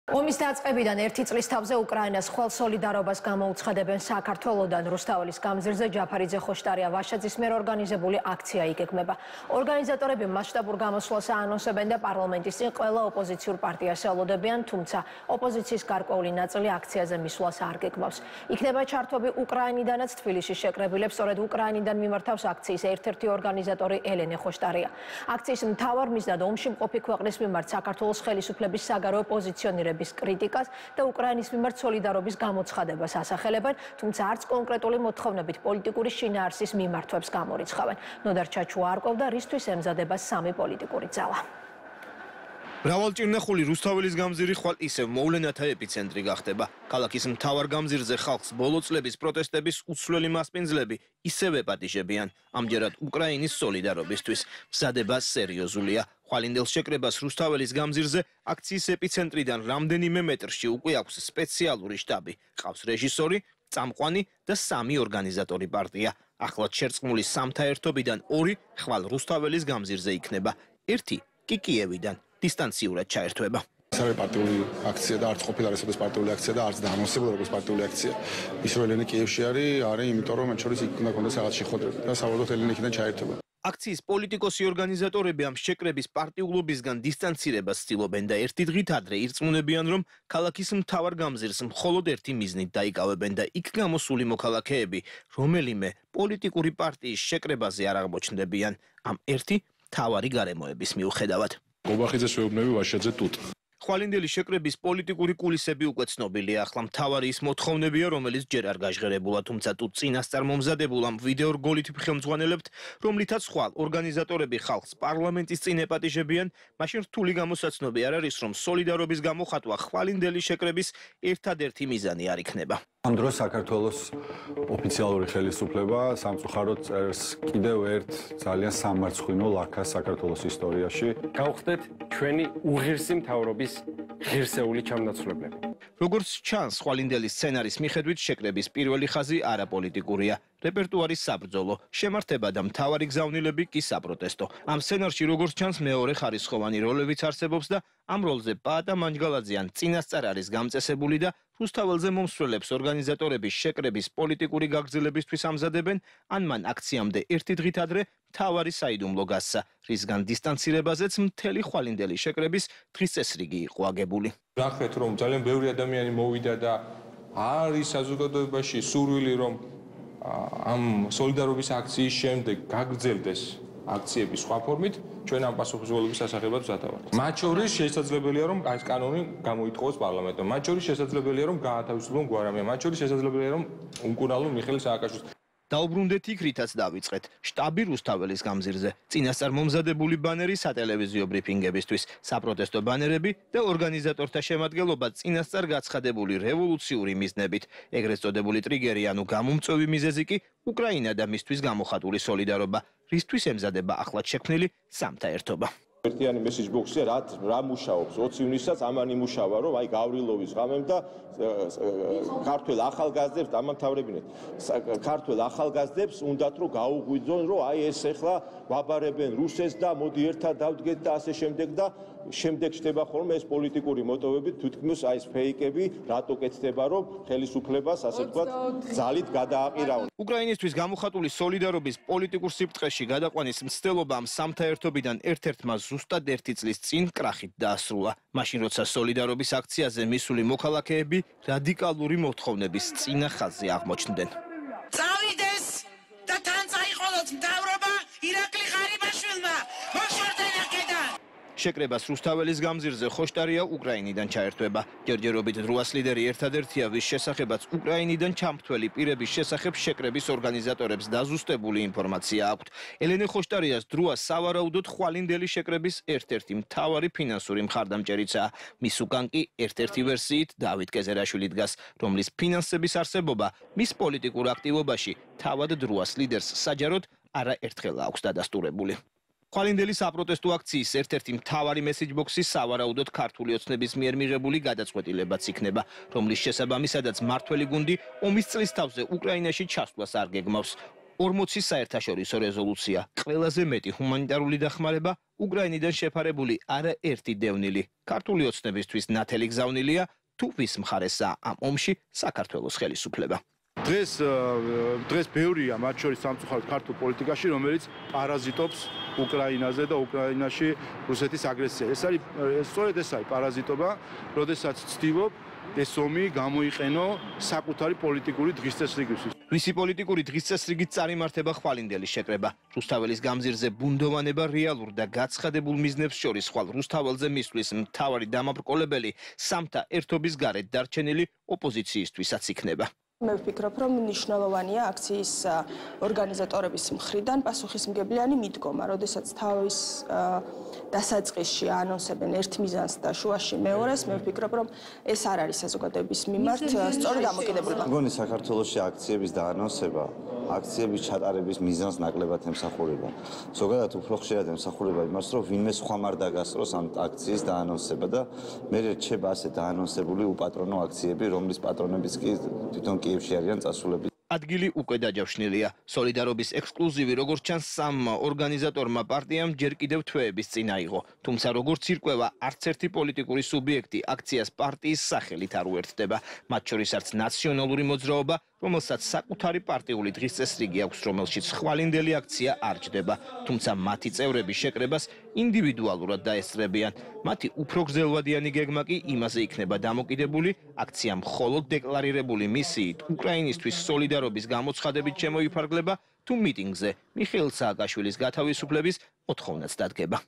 ომის დაწყებიდან ერთი წლის თავზე უკრაინას ხვალ სოლიდარობას გამოუცხადებენ საქართველოდან რუსთაველის გამზირზე ჯაფარიძე ხოშტარია ვაშაძის მიერ ორგანიზებული აქცია იგეგმება. ორგანიზატორები მასშტაბურ გამოსვლას აანონსებენ და პარლამენტის წინ ყველა ოპოზიციურ პარტიას ელოდებიან, თუმცა ოპოზიციის გარკვეული ნაწილი აქციაზე მისვლას არ გეგმავს. იქნება ჩართობი უკრაინიდანაც თბილისში შეკრებილებს, სწორედ უკრაინიდან მიმართავს აქციის ერთ-ერთი ორგანიზატორი ელენე ხოშტარია. აქციის მთავარ მიზნად ომში მყოფი ქვეყნის მიმართ საქართველოს ხელისუფლების საგარეო პოზიციონირება კრიტიკას და უკრაინის მიმართ სოლიდარობის გამოცხადებას ასახელებენ, თუმცა არც კონკრეტული მოთხოვნებით პოლიტიკური შინაარსის მიმართვებს გამორიცხავენ. ნოდარ ჩაჩუა არკვევდა, რისთვის ემზადება სამი პოლიტიკური ძალა. მრავალჭირნახული რუსთაველის გამზირი ხვალ ისევ მოვლენათა ეპიცენტრი გახდება. ქალაქის მთავარ გამზირზე ხალხს ბოლო წლების პროტესტების უცვლელი მასპინძლები ისევ ეპატიჟებიან. ამჯერად უკრაინის სოლიდარობისთვის მზადება სერიოზულია. ხვალინდელ შეკრებას რუსთაველის გამზირზე აქციის ეპიცენტრიდან რამდენიმე მეტრში უკვე აქვს სპეციალური შტაბი. ყავს რეჟისორი, წამყვანი და სამი ორგანიზატორი პარტია. ახლად შერწყმული სამთა ერთობიდან ორი ხვალ რუსთაველის გამზირზე იქნება. ერთი კი კიევიდან დისტანციურად ჩაერთვება. ეს არის პარტიული აქცია და არც ყოფილა რესპუბლიკის პარტიული აქცია და არც დაანონსებული როგორც პარტიული აქცია. ის რომ ელენე კიევში არის იმიტომ რომ მათ შორის იქ უნდა კონდეს რაღაც შეხვედრები და საბოლოოდ ელენე იქიდან ჩაერთვება. აქციის პოლიტიკოსი ორგანიზატორები ამ შეკრების პარტიულობისგან დისტანცირებას ცდილობენ და ერთი დღით ადრე ირწმუნებიან, რომ ქალაქის მთავარ გამზირს მხოლოდ ერთი მიზნით დაიკავებენ და იქ გამოსული მოქალაქეები რომელიმე პოლიტიკური პარტიის შეკრებაზე არ აღმოჩნდებიან. ამ ერთი მთავარი გარემოების მიუხედავად. გობახიძეს ვეუბნები ვაშაძე ტუტ. ხვალინდელი შეკრების პოლიტიკური კულისები უკვე ცნობილია. ახლა მთავარი ის მოთხოვნებია, რომელიც ჯერ არ გაჟღერებულა, თუმცა თუ წინასწარ მომზადებულ ამ ვიდეო რგოლით ხელმძღვანელებთ, რომლითაც ხვალ ორგანიზატორები ხალხს პარლამენტის წინ ეპატიჟებიან, მაშინ რთული გამოსაცნობი არ არის, რომ სოლიდარობის გამოხატვა ხვალინდელი შეკრების ერთადერთი მიზანი არ იქნება. ამ დროს საქართველოს ოფიციალური ხელისუფლება სამწუხაროდ წერს კიდევ ერთ ძალიან სამარცხვინო ლაქას საქართველოს ისტორიაში. გავხდეთ ჩვენი უღირსი მთავრობის ღირსეული ჩამნაცვლებლები. როგორც ჩანს, ხვალინდელი სცენარის მიხედვით შეკრების პირველი ხაზი არაპოლიტიკურია. რეპერტუარის საბრძოლო, შემართება და მთავარი გზავნილები კი საპროტესტო. ამ სცენარში როგორც ჩანს მეორე ხარისხოვანი როლებიც არსებობს და ამ როლზე პაატა მანჯგალაძიან წინასწარ არის გამწესებული და რუსთაველზე მომსვლელებს ორგანიზატორების შეკრების პოლიტიკური გაგრძელებისთვის ამზადებენ, ან მან აქციამდე ერთი დღით ადრე მთავარი საიდუმლო გასცა, რისგან დისტანცირებაზეც მთელი ხვალინდელი შეკრების დღის წესრიგი იყო აგებული. ნახეთ, რომ ძალიან ბევრი ადამიანი მოვიდა და არის საზოგადოებაში სურვილი, რომ ამ სოლიდარობის აქციის შემდეგ გაგრძელდეს აქციების სხვა ფორმით, ჩვენ ამ პასუხისმგებლობის სასახებად ვზადავართ. მათ შორის შესაძლებელია, რომ ეს კანონი გამოითხოვოს პარლამენტმა. მათ შორის შესაძლებელია, რომ გაათავისუფლონ გვარამია. მათ შორის შესაძლებელია, რომ უმკურნალონ მიხეილ სააკაშვილს. დაუბრუნდეთ იქ, რითაც დავიწყეთ. შტაბი რუსთაველის გამზირზე, წინასწარ მომზადებული ბანერი სატელევიზიო ბრიფინგებისთვის, საპროტესტო ბანერები და ორგანიზატორთა შემადგენლობა წინასწარ გაცხადებული რევოლუციური მიზნებით. ეგრეთ წოდებული ტრიგერი, ანუ გამომწვევი მიზეზი კი უკრაინა და მისთვის გამოხატული სოლიდარობა, რისთვის ემზადება ახლად შექმნილი სამთა ერთობა. ერთიანი მესეჯ ბოქსი რა მუშაობს 20 ივნისსაც ამან იმუშავა რომ აი გავრილოვის ღამემ და ქართველ ახალგაზრდებს დამამთავრებინეთ ქართველ ახალგაზრდებს უნდათ რომ გაუღვიძონ რომ აი ეს ახლა ვაბარებენ რუსეთს და მოდი ერთად დავდგეთ და ასე შემდეგ და შემდეგ ხდება ხოლმე ეს პოლიტიკური მოტივები თითქმის აი ეს ფეიკები რატო კეთდება რომ ხელისუფლებას ასე ვთქვათ ძალით გადააყირავონ. უკრაინისთვის გამოხატული სოლიდარობის პოლიტიკურ სიბრტყეში გადაყვანის მცდელობა ამ სამთა ერთობიდან ერთ-ერთმა ზუსტად ერთი წლის წინ კრახით დაასრულა. მაშინ როცა სოლიდარობის აქციაზე მისული მოქალაქეები რადიკალური მოთხოვნების წინა ხაზზე აღმოჩნდნენ. წავიდეს და თან წაიყოლოს მთავრობა ირაკლი ღარიბაშვილმა. მოშორდნენ აქედან. შეკრებას რუსთაველის გამზირზე ხოშტარია უკრაინიდან ჩაერთვება. ჯერჯერობით დროას ლიდერი ერთადერთია, ვის შესახებაც უკრაინიდან ჩამრთველი პირების შესახებ შეკრების ორგანიზატორებს დაზუსტებული ინფორმაცია აქვთ. ელენე ხოშტარიას დროა სავარაუდოდ ხვალინდელი შეკრების ერთ-ერთი მთავარი ფინანსური მხარდამჭერიცაა. მის უკან კი ერთ-ერთი ვერსიით დავით კეზერაშვილი დგას, რომლის ფინანსების არსებობა მის პოლიტიკურ აქტივობაში თავად დროას ლიდერს საჯაროდ არაერთხელ აქვს დადასტურებული. ხვალინდელი საპროტესტო აქციის ერთ-ერთი მთავარი მესეჯბოქსი სავარაუდოდ ქართული ოცნების მიერ მიღებული გადაწყვეტილებაც იქნება, რომლის შესაბამისადაც მმართველი გუნდი ომის წლის თავზე უკრაინაში ჩასვლას არ გეგმავს. 40 საერთაშორისო რეზოლუცია, ყველაზე მეტი ჰუმანიტარული დახმარება, უკრაინიდან შეფარებული არაერთი დევნილი. ქართული ოცნებისთვის ნათელი გზავნილია, თუ ვის მხარესაა ამ ომში საქართველოს ხელისუფლება. დღეს ბევრია მათ შორის სამწუხაროდ ქართულ პოლიტიკაში, რომელიც პარაზიტობს უკრაინაზე და უკრაინაში რუსეთის აგრესია. სწორედ ეს არის პარაზიტობა, როდესაც ცდილობ ეს ომი გამოიყენო საკუთარი პოლიტიკური დღისწესრიგისთვის. რისი პოლიტიკური დღისწესრიგით წარიმართება ხვალინდელი შეკრება. რუსთაველის გამზირზე ბუნდოვანება რეალურ და გაცხადებულ მიზნებს შორის ხვალ რუსთაველზე მისვლის მთავარი დამაბრკოლებელი სამთა ერთობის გარეთ დარჩენილი ოპოზიციისთვისაც იქნება. მე ვფიქრობ, რომ მნიშვნელოვანია აქციის ორგანიზატორების მხრიდან პასუხისმგებლიანი მიდგომა, როდესაც თავის დასაწყისში ანონსებენ ერთ მიზანს და შუაში მეორეს, მე ვფიქრობ, რომ ეს არ არის საზოგადოების მიმართ სწორი დამოკიდებულება. მგონი საქართველოში აქციების დაანონსება, აქციების ჩატარების მიზანს ნაკლებად ემსახურება. ზოგადად უფრო ხშირად ემსახურება იმას, რომ ვინმე სხვა არ დაგასწროს ამ აქციის დაანონსება და მე რჩება ასე დაანონსებული უპატრონო აქციები, რომლის პატრონებიც კი თვითონ კიევში არიან წასულები. ადგილი უკვე დაჯავშნილია. სოლიდარობის ექსკლუზივი როგორც ჩანს სამ ორგანიზატორმა პარტიამ ჯერ კიდევ თვეების წინ აიღო. თუმცა როგორც ირკვევა, არც ერთი პოლიტიკური სუბიექტი აქციას პარტიის სახელით არ უერთდება. მათ შორის არც ნაციონალური მოძრაობა, რომელსაც საკუთარი პარტიული დღისწესრიგი აქვს, რომელშიც ხვალინდელი აქცია არ ჯდება. თუმცა მათი წევრები შეკრებას ინდივიდუალურად დაესწრებიან. მათი უფრო გრძელვადიანი გეგმა კი იმაზე იქნება დამოკიდებული, აქცია მხოლოდ დეკლარირებული მისიით უკრაინისთვის სოლიდარობის გამოცხადებით შემოიფარგლება, თუ მიტინგზე მიხეილ სააკაშვილის გათავისუფლების მოთხოვნაც დადგება.